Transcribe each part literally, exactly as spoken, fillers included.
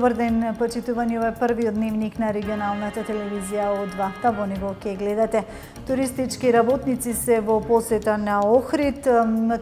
Добар ден, почитувани, ова е првиот дневник на регионалната телевизија О два. Та во него ќе гледате. Туристички работници се во посета на Охрид,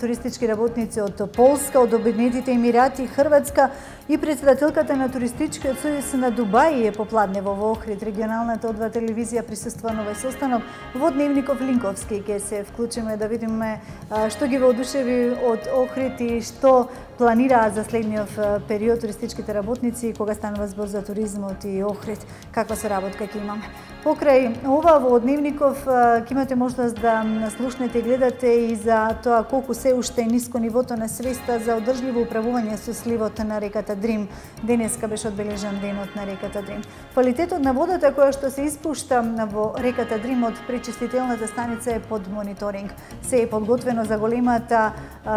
туристички работници од Полска, од Обединетите Емирати, Хрватска и председателката на туристичкиот сојуз на Дубај е попладнево во Охрид. Регионалната О два телевизија присуства на овој состанок. Во дневников Линковски ќе се вклучиме да видиме што ги воодушеви од Охрид и што планираат за следниот период туристичките работници кога станува збор за туризмот и Охрид, каква соработка ќе имаме. Покрај ова во дневников ќе имате можност да слушнете и гледате и за тоа колку се уште е ниско нивото на свеста за одржливо управување со сливот на реката Дрим. Денеска беше одбележан денот на реката Дрим. Квалитетот на водата која што се испушта во реката Дрим од пречистителната станица е под мониторинг. Се е подготвено за големата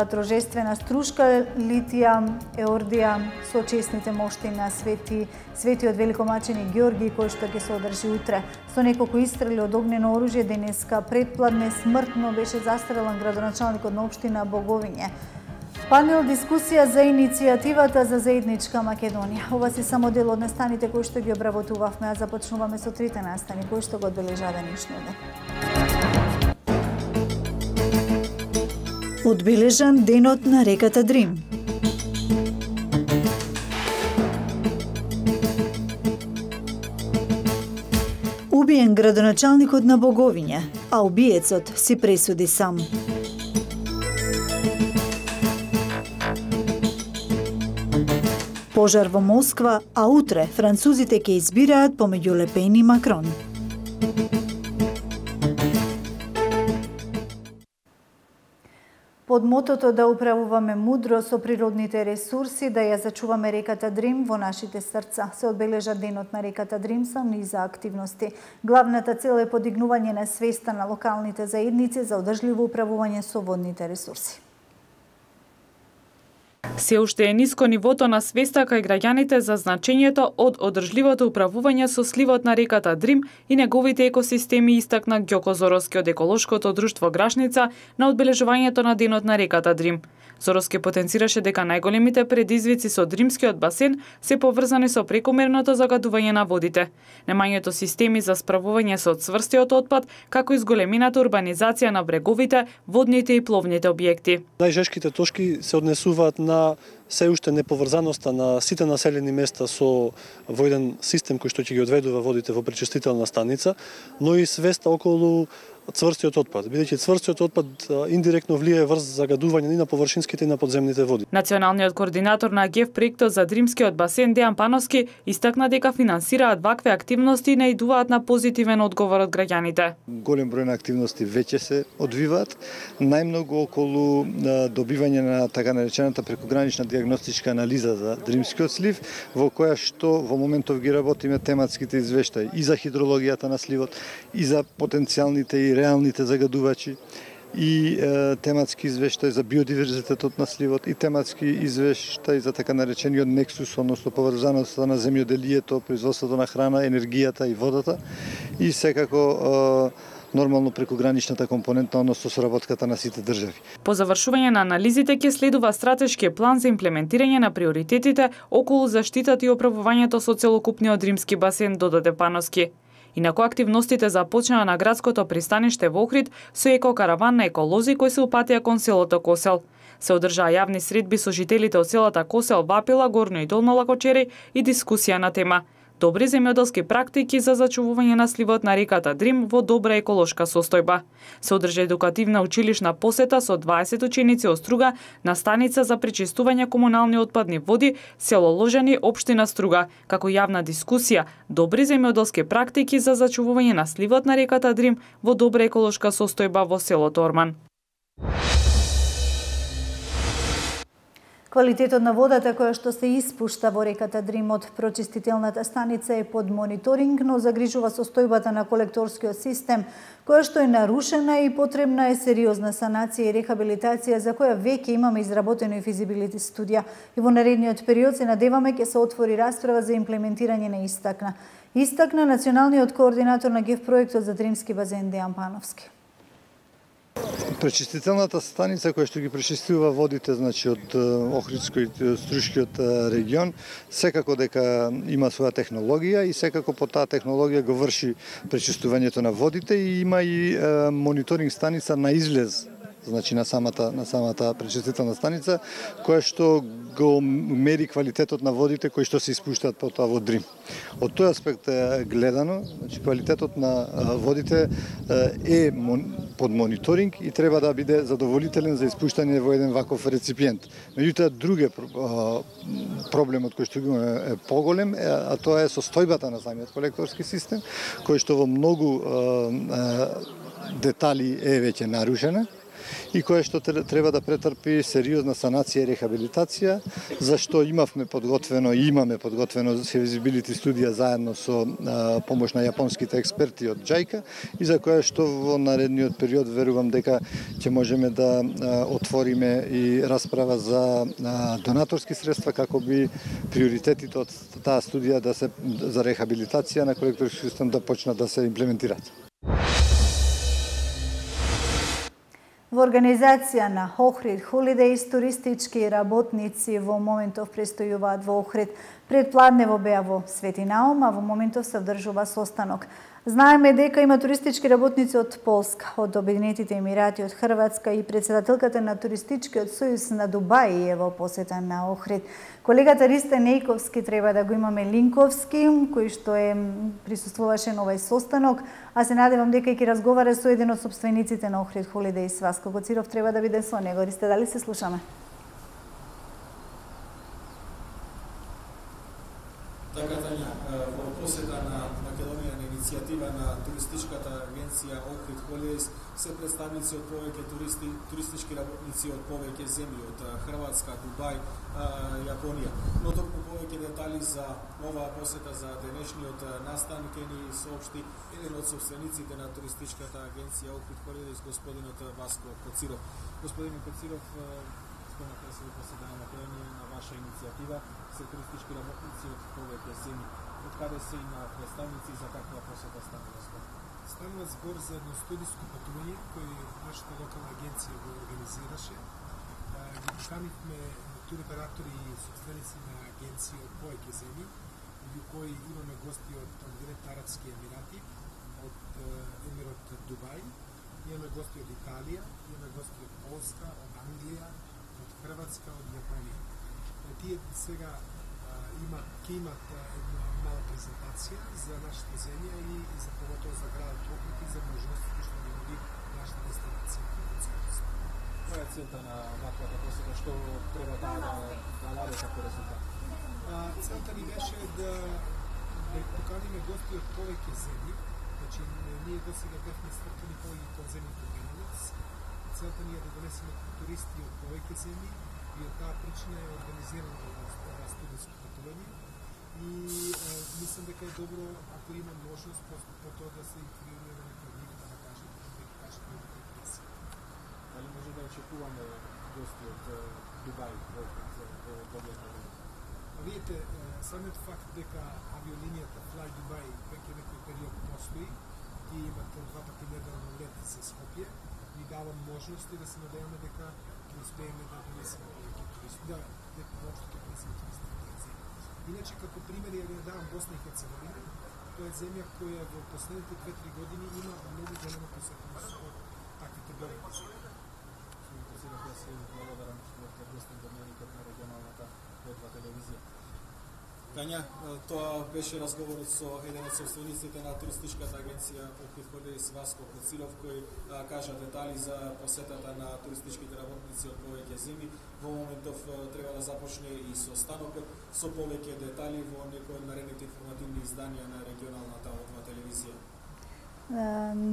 трожествена струшка Литија Еордија со честните мошти на Свети Светиот великомаченик Георги, кој што ќе се одржи утре. Со неколку истрели од огнено оружје денеска предпладне смртно беше застрелан градоначалникот на општина Боговиње. Панел дискусија за иницијативата за заедничка Македонија. Ова се само дел од настаните кои што ги обработувавме, а започнуваме со трите настани кои што го одбележаа денешниот ден. Одбележан денот на реката Дрим. Убиен градоначалникот на Боговиње, а убиецот си пресуди сам. Пожар во Москва, а утре французите ќе избираат помеѓу Ле Пен и Макрон. Под мотото да управуваме мудро со природните ресурси, да ја зачуваме реката Дрим во нашите срца, се одбележа денот на реката Дрим со низа активности. Главната цел е подигнување на свеста на локалните заедници за одржливо управување со водните ресурси. Се уште е ниско нивото на свеста кај граѓаните за значењето од одржливото управување со сливот на реката Дрим и неговите екосистеми, истакна Ѓоко Зороски од еколошкото друштво Грашница на одбележувањето на денот на реката Дрим. Зороски потенцираше дека најголемите предизвици со Дримскиот басен се поврзани со прекомерното загадување на водите, немањето системи за справување со цврстиот отпад, како и зголемената урбанизација на бреговите, водните и пловните објекти. Најжешките точки се однесуваат на се уште неповрзаноста на сите населени места со во еден систем кој што ќе ги одведува водите во пречистителна станица, но и свеста околу цврстиот отпад, бидејќи цврстиот отпад индиректно влијае врз загадување и на површинските и на подземните води. Националниот координатор на ГЕФ проектот за Дримскиот басен Дејан Пановски истакна дека финансираат вакви активности и наидуваат на позитивен одговор од граѓаните. Голем број на активности веќе се одвиваат, најмногу околу добивање на така наречената прекогранична дијагностичка анализа за Дримскиот слив, во која што во моментов ги работиме тематските извештаи и за хидрологијата на сливот, и за потенцијалните и реалните загадувачи, и е, тематски извештај за биодиверзитетот на сливот, и тематски извештај за така наречениот нексус, односно поврзаноста на земјоделието, производството на храна, енергијата и водата, и секако е, нормално прекограничната компонента, односно соработката на сите држави. По завршување на анализите ќе следува стратешки план за имплементирање на приоритетите околу заштитата и оправувањето со целокупниот Римски басен, додаде Пановски. Инаку активностите започнаа на градското пристаниште во Охрид со екокараван на еколози кои се упатија кон селото Косел. Се одржаа јавни средби со жителите од селата Косел, Вапила, Горно и Долно Лакочери и дискусија на тема добри земјоделски практики за зачувување на сливот на реката Дрим во добра еколошка состојба. Се одржа едукативна училишна посета со дваесет ученици од Струга на станица за пречистување комунални отпадни води, село Ложани, општина Струга, како јавна дискусија добри земјоделски практики за зачувување на сливот на реката Дрим во добра еколошка состојба во селото Орман. Квалитетот на водата која што се испушта во реката Дрим од прочистителната станица е под мониторинг, но загрижува состојбата на колекторскиот систем, која што е нарушена и потребна е сериозна санација и рехабилитација, за која веќе имаме изработено и физибилити студија. И во наредниот период се надеваме ќе се отвори расправа за имплементирање на истакна. Истакна националниот координатор на ГЕФ проектот за Дримски басен Дејан Пановски. Пречистителната станица која што ги пречистува водите, значи од Охридскиот и Струшкиот регион, секако дека има своја технологија и секако по таа технологија го врши пречистувањето на водите и има и е, мониторинг станица на излез, значи на самата на самата пречистителна станица, која што го мери квалитетот на водите кои што се испуштаат потоа во Дрим. Од тој аспект гледано, значи квалитетот на водите е под мониторинг и треба да биде задоволителен за испуштање во еден ваков реципиент. Меѓутоа друге проблемот кој што го е поголем, а тоа е состојбата на самиот колекторски систем, кој што во многу детали е веќе нарушена и која што треба да претрпи сериозна санација и рехабилитација, зашто имавме подготвено и имаме подготвено feasibility студија заедно со а, помош на јапонските експерти од џајка и за која што во наредниот период верувам дека ќе можеме да а, отвориме и расправа за а, донаторски средства како би приоритетите од таа студија да се за рехабилитација на колекторски систем да почнат да се имплементираат. Во организација на Охрид Холидејс туристички работници во моментов престојуваат во Охрид. Предпладнево беа во Свети Наум, а во моментов се одржува состанок. Знаеме дека има туристички работници од Полска, од Обединетите Емирати, од Хрватска и председателката на туристичкиот сојуз на Дубај е во посета на Охрид. Колегата Ристен Ејковски треба да го имаме Линковски, кој што е присуствуваше на овој состанок, а се надевам дека ќе разговара со еден од сопствениците на Охрид Холидејс. Васко Коциров треба да биде со него. Ристе, дали се слушаме? Така, Тања, во посета на Македонија на иницијатива на туристичката агенција Охрид Холидејс се представници од повеќе туристи, туристички работници од повеќе земји, од Хрватска, Дубај, Јапонија. Но толку повеќе детали за оваа посета за денешниот настан ќе ни соопшти еден од собствениците на туристичката агенција Охрид Холидејс, господинот Васко Коциров. Господин Коциров, спомнате се посета на Македонија на ваша иницијатива се туристички работници од повеќе земји. Од каде се има представници за таква посета станува збор? Станува збор за едно студиско патување кој нашата локална агенција го организираше. Ги поканивме туроператори и собственици на агенции од повеќе земји, меѓу кои имаме гости од Обединетите Арапски Емирати, од Емирот Дубај, имаме гости од Италија, имаме гости од Полска, од Англија, од Хрватска, од Јапонија. Тие сега има ќе имат една мала презентација за нашата земја и, и за поготово за градот Охрид и за можностите што ги нуди нашата дестинација. Која е целта на ваквата посета? Што треба да да даде како резултат? Целта ни беше да да поканиме гости од повеќе земји. Значи ние досега бевме свртени повеќе кон земјите Бенелукс. Целта ни е да донесеме туристи од повеќе земји и од таа причина е организирано ова студиско патување. И е, мислам дека е добро ако има можност просто по тоа да се информираме пред нив да кажат да ги кажат неговите импресии. Дали може да очекуваме гости од Дубај во додека? Видите, самиот факт дека авиолинијата Fly Dubai веќе некој период постои и имат два пати неделно лет за Скопје, ни дава можности да се надеваме дека ќе успееме да донесеме повеќе туристи, да дека воопшто ќе донесеме туристи во таа земја. Иначе како пример ја ви давам Босна и Херцеговина, тоа е земја која во последните две-три години има многу голема посетеност од таквите големи земји. Сега да се благодарам што сте гостин до мене на регионалната ветва телевизија. Тања, тоа беше разговорот со еден од собствениците на туристичката агенција Охрид Холидејс Васко Коциров, кој а, кажа детали за посетата на туристичките работници од повеќе земји. Во моментов треба да започне и со станокот, со повеќе детали во некои од наредните информативни изданија на регионалната ветва телевизија.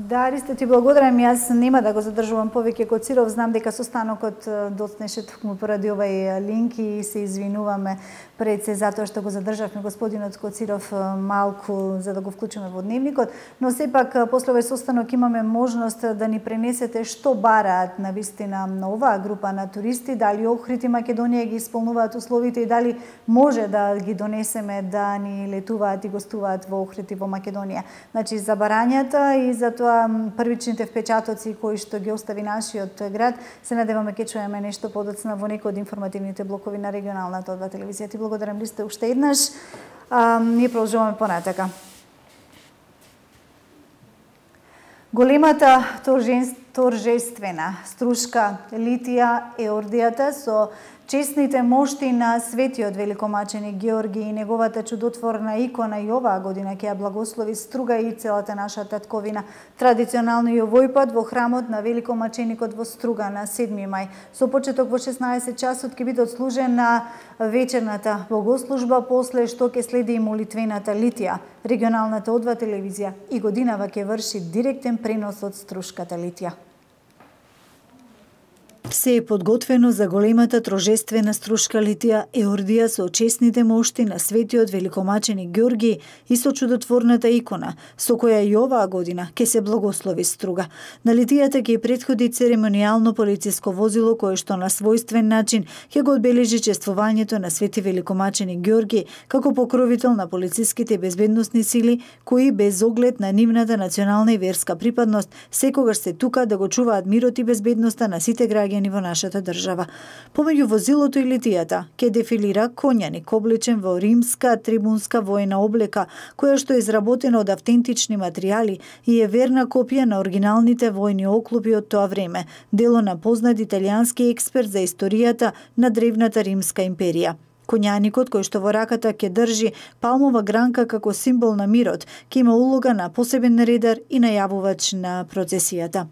Да, Ристо, ти благодарам. Јас нема да го задржувам повеќе Коциров. Знам дека состанокот доцнеше токму поради овај линк и се извинуваме пред се затоа што го задржавме господинот Коциров малку за да го вклучиме во дневникот, но сепак после овој состанок имаме можност да ни пренесете што бараат на вистина на оваа група на туристи, дали Охрид и Македонија ги исполнуваат условите и дали може да ги донесеме да ни летуваат и гостуваат во Охрид и во Македонија. Значи за барањата Струска и за тоа првичните впечатоци кои што ги остави нашиот град. Се надеваме ќе чуеме нешто подоцна во некој од информативните блокови на регионалната одва телевизија. Ти благодарам ли сте уште еднаш. А, ние продолжуваме понатака. Големата торжествена струшка Литија Еордијата со честните мошти на светиот великомаченик Георги и неговата чудотворна икона и оваа година ќе ја благослови Струга и целата наша татковина. Традиционално и овој пат во храмот на великомаченикот во Струга на седми мај. Со почеток во шеснаесет часот ќе биде отслужена вечерната богослужба, после што ќе следи и молитвената литија. Регионалната одва телевизија и годинава ќе врши директен пренос од струшката литија. Се е подготвено за големата торжествена струшка Литија Еордија со честните мошти на светиот великомаченик Георги и со чудотворната икона, со која и оваа година ќе се благослови Струга. На Литијата ќе претходи церемонијално полициско возило кое што на својствен начин ќе го одбележи чествувањето на свети великомаченик Георги како покровител на полициските и безбедносни сили кои без оглед на нивната национална и верска припадност секогаш се тука да го чуваат мирот и безбедноста на сите граѓани во нашата држава. Помеѓу возилото и литијата ќе дефилира конјаник облечен во римска трибунска војна облека, која што е изработена од автентични материјали и е верна копија на оригиналните војни оклопи од тоа време, дело на познат италијански експерт за историјата на древната римска империја. Конјаникот, кој што во раката ќе држи палмова гранка како символ на мирот, ќе има улога на посебен редар и најавувач на процесијата.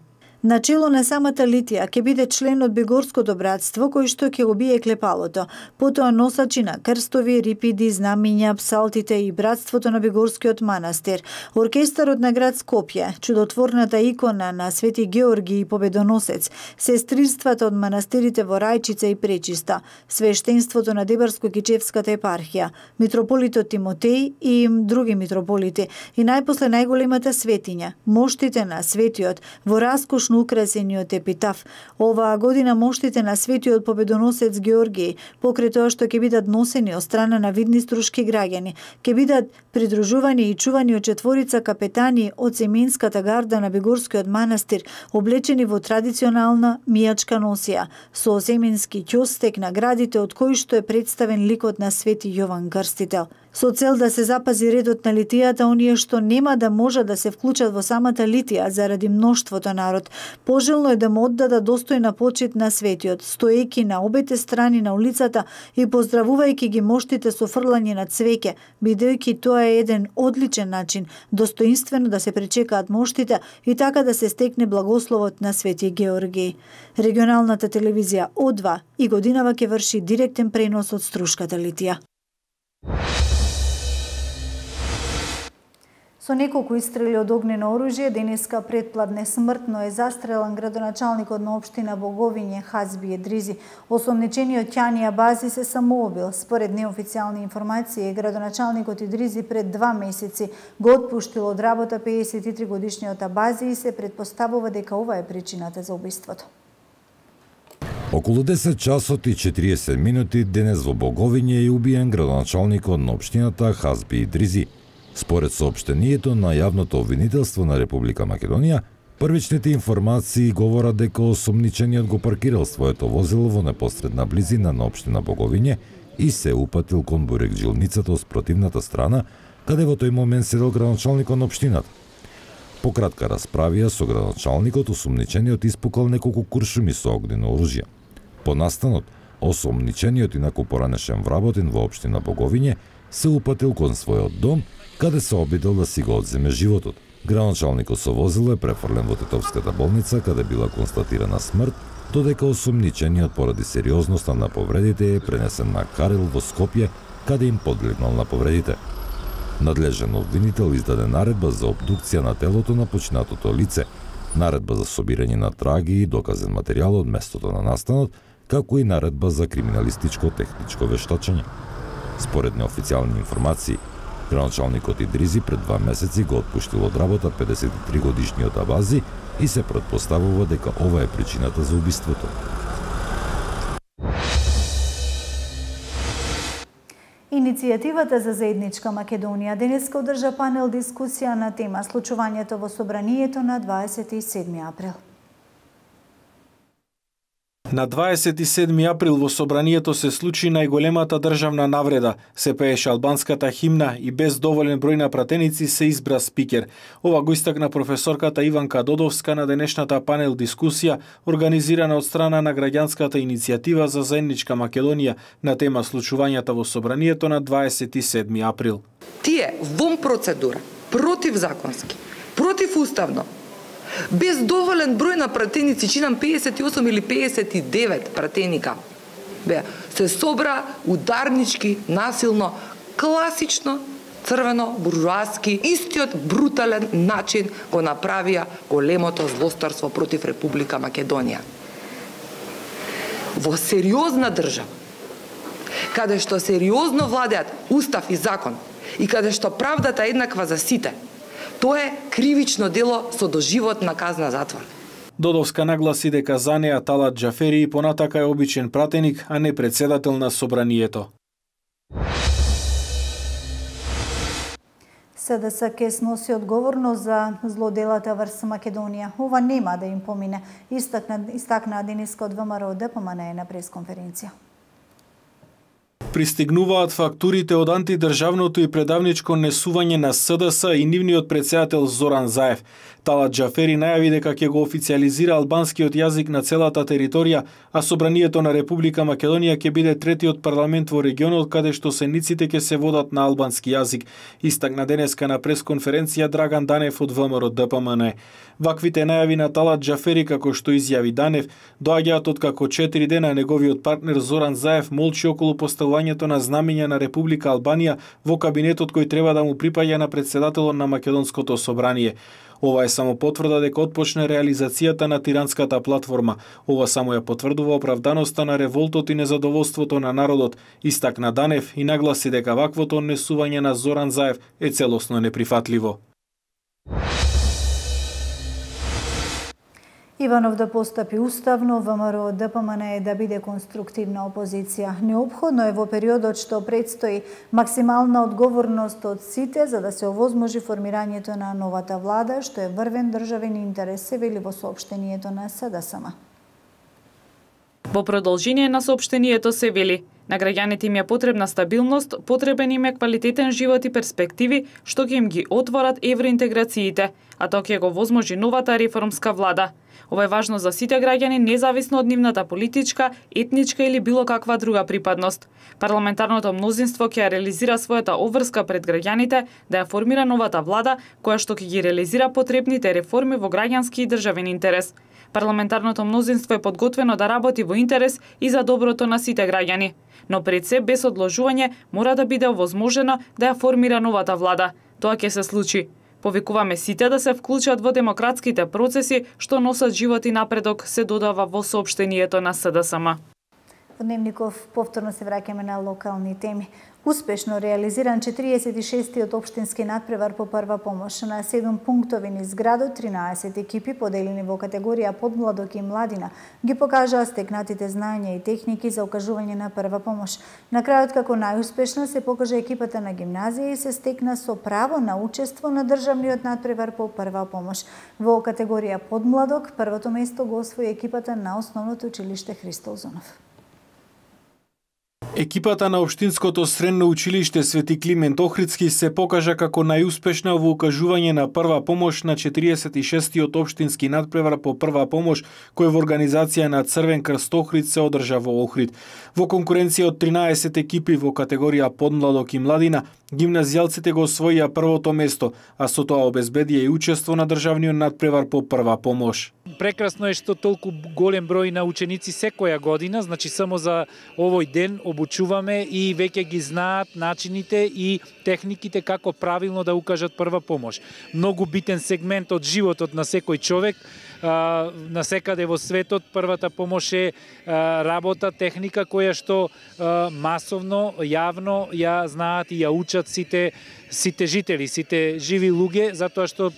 Начело на самата Литија ќе биде член од Бегорското братство кој што ќе го бие клепалото, потоа носачи на крстови, рипиди, знамиња, псалтите и братството на Бегорскиот манастир, оркестарот на град Скопје, чудотворната икона на Свети Георги и победоносец, сестринствата од манастирите во Рајчица и Пречиста, свештенството на Дебарско-Кичевската епархија, митрополитот Тимотеј и други митрополити и најпосле најголемата светиња, моштите на светиот во раскош украсениот епитаф. Оваа година моштите на светиот победоносец Георги, покрај тоа што ќе бидат носени од страна на видни струшки граѓани, ќе бидат придружувани и чувани од четворица капетани од Семенската гарда на Бегорскиот манастир, облечени во традиционална мијачка носија, со семенски ќостек на градите од кој што е представен ликот на Свети Јован Крстител. Со цел да се запази редот на литијата, оние што нема да може да се вклучат во самата литија заради мноштвото народ, пожелно е да му оддадат достојна почит на светиот, стоејќи на обете страни на улицата и поздравувајќи ги моштите со фрлање на цвеќе, бидејќи тоа е еден одличен начин достоинствено да се пречекаат моштите и така да се стекне благословот на Свети Георги. Регионалната телевизија одва и годинава ќе врши директен пренос од струшката Литија. Со неколку истрели од огнено оружје, денеска предпладне смртно е застрелан градоначалникот на општина Боговиње Хазби Едризи. Осомничениот Ќани Абази се самоубил. Според неофицијални информации, градоначалникот Едризи пред два месеци го отпуштил од работа пеесет и три годишниот Абази и се претпоставува дека ова е причината за убиството. Околу десет часот и четириесет минути денес во Боговиње е убиен градоначалникот на општината Хазби Едризи. Според соопштението на јавното обвинителство на Република Македонија, првичните информации говорат дека осомничениот го паркирал своето возило во непосредна близина на општина Боговиње и се упатил кон бурехджилницата од спротивната страна, каде во тој момент седел градоначалникот на општината. По кратка расправија со градоначалникот, осомничениот испукал неколку куршуми со огнено оружје. По настанот, осомничениот инаку поранешен вработен во општина Боговиње се упатил кон својот дом, каде се обидел да си го одземе животот. Градоначалникот со возило е префрлен во Тетовската болница, каде била констатирана смрт, додека осомничениот поради сериозноста на повредите е пренесен на Карел во Скопје, каде им подлегнал на повредите. Надлежен обвинител издаде наредба за обдукција на телото на починатото лице, наредба за собирање на траги и доказен материјал од местото на настанот, како и наредба за криминалистичко-техничко вештачење. Според неофицијални информации, градоначалникот Едризи пред два месеци го отпуштил од работа педесет и три годишниот Абази и се претпоставува дека ова е причината за убиството. Иницијативата Иницијативата за заедничка Македонија денеска одржа панел дискусија на тема случувањето во собранието на дваесет и седми април. На дваесет и седми април во собранието се случи најголемата државна навреда. Се пееше албанската химна и без доволен број на пратеници се избра спикер. Ова го истакна професорката Иванка Додовска на денешната панел дискусија, организирана од страна на граѓанската иницијатива за заедничка Македонија на тема случувањата во собранието на дваесет и седми април. Тие вон процедура, противзаконски, противуставно, без доволен број на пратеници, чинам пеесет и осум или пеесет и девет пратеника, бе, се собра ударнички, насилно, класично, црвено, буржуаски, истиот брутален начин го направија големото злостарство против Република Македонија. Во сериозна држава, каде што сериозно владеат устав и закон и каде што правдата е еднаква за сите, тоа е кривично дело со доживотна казна затвор. Додовска нагласи дека за неа Талат Џафери понатака е обичен пратеник, а не председател на собранието. СДС ќе сноси одговорност за злоделата врз Македонија. Ова нема да им помине, истакна, истакна денеска од ВМРО ДПМН на пресконференција. Пристигнуваат фактурите од антидржавното и предавничко несување на СДС и нивниот председател Зоран Заев. Талат Џафери најави дека ќе го официализира албанскиот јазик на целата територија, а собранието на Република Македонија ќе биде третиот парламент во регионот каде што сениците ќе се водат на албански јазик, истакна денеска на пресконференција Драган Данев од ВМРО ДПМН. Ваквите најави на Талат Џафери, како што изјави Данев, доаѓаат од како четири дена неговиот партнер Зоран Заев молчи околу поставувањето на знамења на Република Албанија во кабинетот кој треба да му припаѓа на председателот на Македонското собрание. Ова е само потврда дека отпочне реализацијата на тиранската платформа. Ова само ја потврдува оправданоста на револтот и незадоволството на народот, истакна Данев и нагласи дека ваквото однесување на Зоран Заев е целосно неприфатливо. Иванов да постапи уставно, ВМРО ДПМН е да биде конструктивна опозиција. Неопходно е во периодот што предстои максимална одговорност од сите за да се овозможи формирањето на новата влада, што е врвен државен интерес, се вели во соопштението на СДСМ. Во продолжение на соопштението се вели: на граѓаните им е потребна стабилност, потребен им е квалитетен живот и перспективи што ќе им ги отворат евроинтеграциите, а тоа ќе го возможи новата реформска влада. Ова е важно за сите граѓани, независно од нивната политичка, етничка или било каква друга припадност. Парламентарното мнозинство ќе реализира својата обврска пред граѓаните да ја формира новата влада, која што ќе ги реализира потребните реформи во граѓански и државен интерес. Парламентарното мнозинство е подготвено да работи во интерес и за доброто на сите граѓани. Но пред се, без одложување, мора да биде овозможено да ја формира новата влада. Тоа ќе се случи. Повикуваме сите да се вклучат во демократските процеси што носат живот и напредок, се додава во соопштението на СДСМ. Во Дневников повторно се враќаме на локални теми. Успешно реализиран четириесет и шестиот општински надпревар по прва помош. На седум пунктови низ градот, тринаесет екипи поделени во категорија подмладок и младина ги покажаа стекнатите знаења и техники за окажување на прва помош. На крајот како најуспешна се покажа екипата на гимназија и се стекна со право на учество на државниот надпревар по прва помош. Во категорија подмладок првото место го освои екипата на Основното училиште Христо Озунов. Екипата на Општинското средно училиште Свети Климент Охридски се покажа како најуспешна во укажување на прва помош на четириесет и шестиот општински надпревар по прва помош, кој во организација на Црвен крст Охрид се одржа во Охрид. Во конкуренција од тринаесет екипи во категорија подмладок и младина, гимназијалците го освоија првото место, а со тоа обезбедија и учество на државниот надпревар по прва помош. Прекрасно е што толку голем број на ученици секоја година, значи само за овој ден обучуваме и веќе ги знаат начините и техниките како правилно да укажат прва помош. Многу битен сегмент од животот на секој човек. На секаде во светот првата помош е работа, техника која што масовно, јавно ја знаат и ја учат сите сите жители, сите живи луѓе, затоа што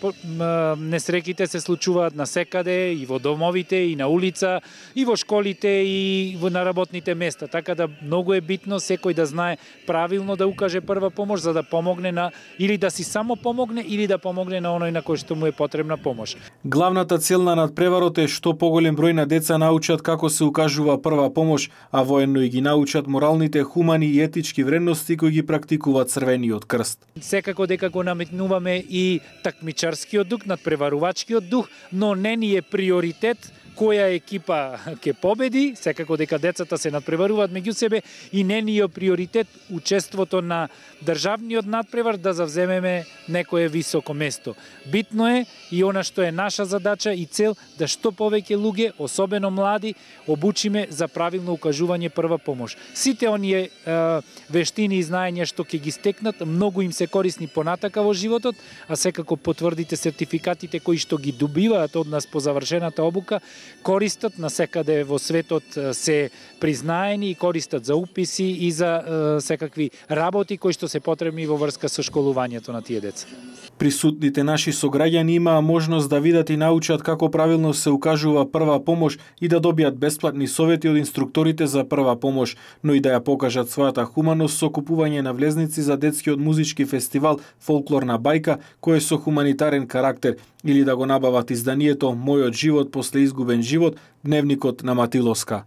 несреќите се случуваат насекаде, и во домовите, и на улица, и во школите, и на работните места. Така да многу е битно секој да знае правилно да укаже прва помош, за да помогне на или да си само помогне, или да помогне на оној на кој што му е потребна помош. Главната цел на надпреварот е што поголем број на деца научат како се укажува прва помош, а воено и ги научат моралните, хумани и етички вредности кои ги практикува Црвениот крст. Секако дека го наметнуваме и такмичарскиот дух, надпреварувачкиот дух, но не ни е приоритет која екипа ќе победи, секако дека децата се надпреваруваат меѓу себе и не ни е приоритет учеството на државниот надпревар да завземеме некое високо место. Битно е и она што е наша задача и цел да што повеќе луѓе, особено млади, обучиме за правилно укажување прва помош. Сите оние е, вештини и знаења што ќе ги стекнат, многу им се корисни понатака во животот, а секако потврдите сертификатите кои што ги добиваат од нас по завршената обука, користат насекаде во светот, се признаени и користат за уписи и за е, секакви работи кои што се потребни во врска со школувањето на тие деца. Присутните наши сограѓани имаа можност да видат и научат како правилно се укажува прва помош и да добијат бесплатни совети од инструкторите за прва помош, но и да ја покажат својата хуманост со купување на влезници за детскиот музички фестивал Фолклорна бајка, кој е со хуманитарен карактер, или да го набават изданието Мојот живот после изгубен живот, дневникот на Матиловска.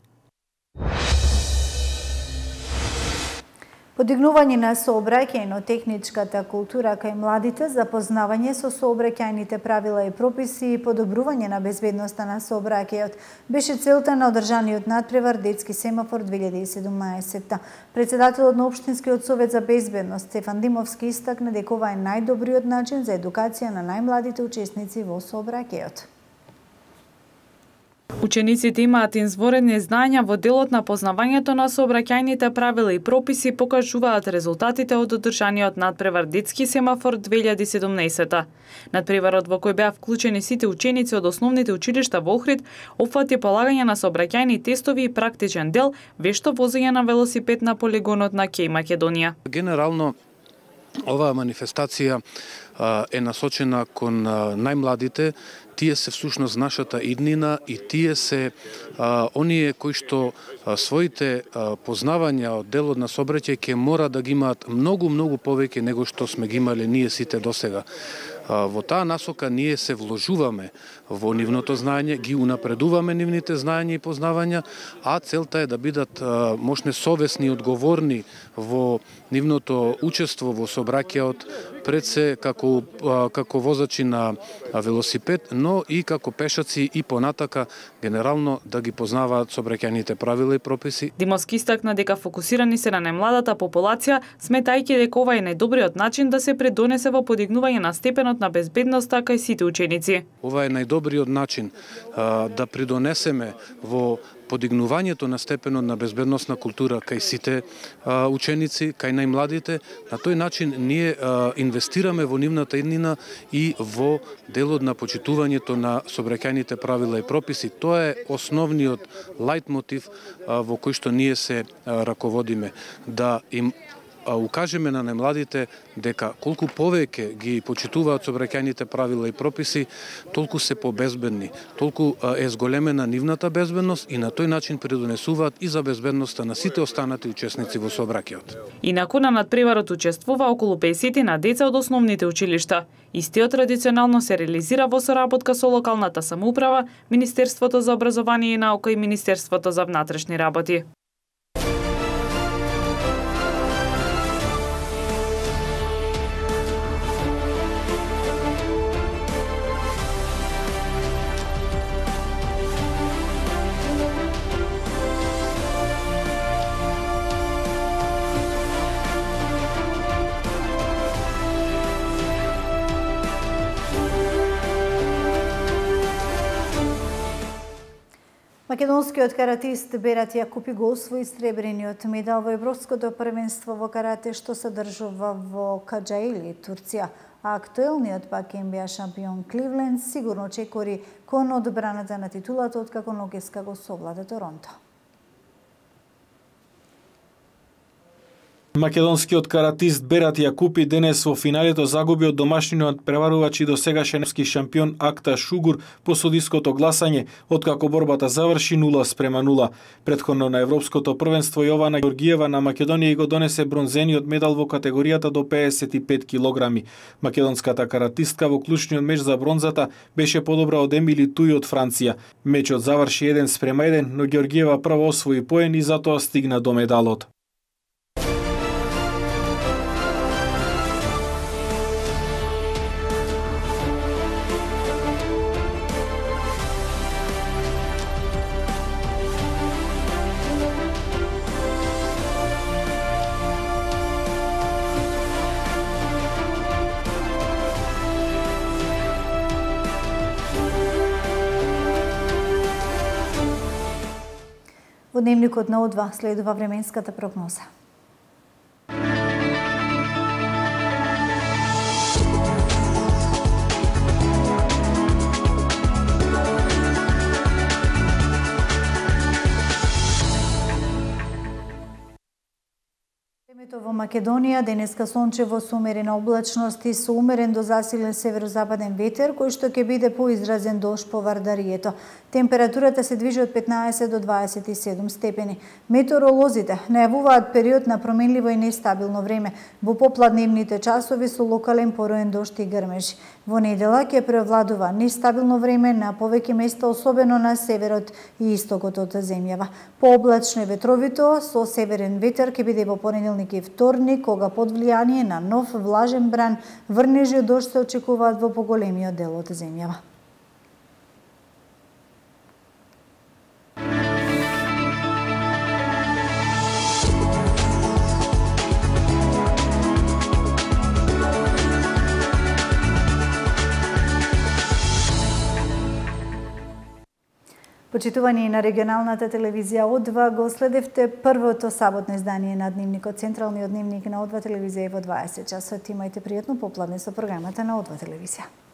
Подигнување на сообраќајно-техничката култура кај младите, запознавање со сообраќајните правила и прописи и подобрување на безбедноста на сообраќајот беше целта на одржаниот надпревар Детски семафор две илјади и седумнаесетта. Председателот на Општинскиот совет за безбедност Стефан Димовски истакна дека ова е најдобриот начин за едукација на најмладите учесници во сообраќајот. Учениците имаат изворени знаења во делот на познавањето на сообраќајните правила и прописи, покажуваат резултатите од одржаниот надпревар Детски семафор две илјади и седумнаесетта. Надпреварот во кој беа вклучени сите ученици од основните училишта во Охрид опфати полагање на сообраќајни тестови и практичен дел, вешто возење на велосипед на полигонот на Кеј Македонија. Генерално оваа манифестација е насочена кон најмладите. Тие се всушност нашата иднина и тие се а, оние кои што а, своите а, познавања од делот на сообраќај ќе мора да ги имаат многу, многу повеќе него што сме ги имале ние сите досега. Во таа насока ние се вложуваме во нивното знаење, ги унапредуваме нивните знаења и познавања, а целта е да бидат можне совесни и одговорни во нивното учество во сообраќајот, пред се како, како возачи на велосипед, но и како пешаци и понатака генерално да ги познаваат сообраќајните правила и прописи. Димовски истакна дека фокусирани се на најмладата популација, сметајќи дека ова е најдобриот начин да се предонесе во подигнување на степенот на безбедноста кај сите ученици. Ова е најдобриот начин а, да придонесеме во подигнувањето на степенот на безбедносна култура кај сите а, ученици, кај најмладите. На тој начин ние а, инвестираме во нивната иднина и во делот на почитувањето на сообраќајните правила и прописи. Тоа е основниот лајтмотив а, во кој што ние се а, раководиме. Да им укажеме на најмладите дека колку повеќе ги почитуваат сообраќајните правила и прописи, толку се побезбедни, толку е зголемена нивната безбедност и на тој начин придонесуваат и за безбедноста на сите останати учесници во сообраќајот. Инаку на надпреварот учествува околу песет на деца од основните училишта. Истиот традиционално се реализира во соработка со локалната самоуправа, Министерството за образование и наука и Министерството за внатрешни работи. Македонскиот каратист Берат Јакупи го освои сребрениот медал во Европското првенство во карате што се одржува во Каџаили, Турција. А актуелниот пак Н Б А шампион Кливленд сигурно чекори кон одбраната на титулата откако Нокеска го совлада Торонто. Македонскиот каратист Берат Јакупи денес во финалето загуби од домашниот преварувач и досегашен европски шампион Акта Шугур по судиското гласање, откако борбата заврши нула спрема нула. Претходно на европското првенство Јована Ѓоргиева на Македонија го донесе бронзениот медал во категоријата до педесет и пет килограми. Македонската каратистка во клучниот меч за бронзата беше подобра од Емили Туј од Франција. Мечот заврши еден спрема еден, но Ѓоргиева прво освои поен и затоа стигна до медалот. Во дневникот на О два следува временската прогноза. Времето во Македонија денеска сончево со умерена облачност и со умерен до засилен северозападен ветер, кој што ќе биде поизразен дожд по Вардарието. Температурата се движи од петнаесет до дваесет и седум степени. Метеоролозите најавуваат период на променливо и нестабилно време во попладневните часови со локален пороен дожд и грмежи. Во недела ќе превладува нестабилно време на повеќе места, особено на северот и истокот од земјава. Пооблачно и ветровито со северен ветер ќе биде во понеделник и вторник, кога под влијание на нов влажен бран врнежи од дожд се очекуваат во поголемиот дел од земјава. Почитувани на регионалната телевизија О два, го следевте првото саботно издание на Дневникот, централниот дневник на О два телевизија и во дваесет часот. Имајте пријатно попладне со програмата на О два телевизија.